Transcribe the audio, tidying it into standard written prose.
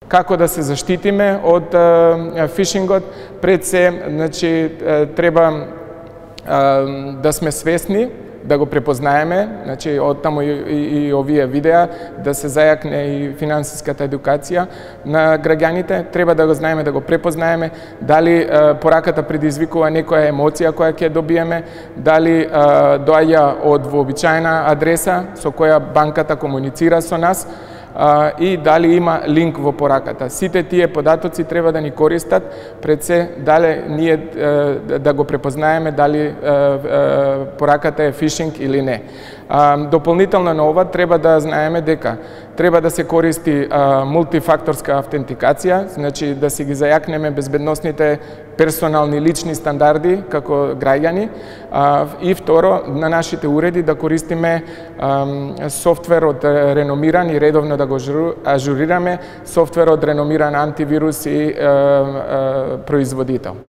Како да се заштитиме од фишингот? Пред се, значи, треба да сме свесни, да го препознаеме, значи, оттаму и овие видеа, да се зајакне и финансиската едукација на граѓаните. Треба да го знаеме, да го препознаеме, дали пораката предизвикува некоја емоција која ќе добиеме, дали доаѓа од вообичаена адреса со која банката комуницира со нас, и дали има линк во пораката. Сите тие податоци треба да ни користат пред се дали ние да го препознаеме дали пораката е фишинг или не. Дополнително на ова треба да знаеме дека треба да се користи мултифакторска автентикација, значи да си ги зајакнеме безбедносните персонални лични стандарди како граѓани, и второ на нашите уреди да користиме софтвер од реномиран и редовно да го ажурираме, софтвер од реномиран антивирус и производител.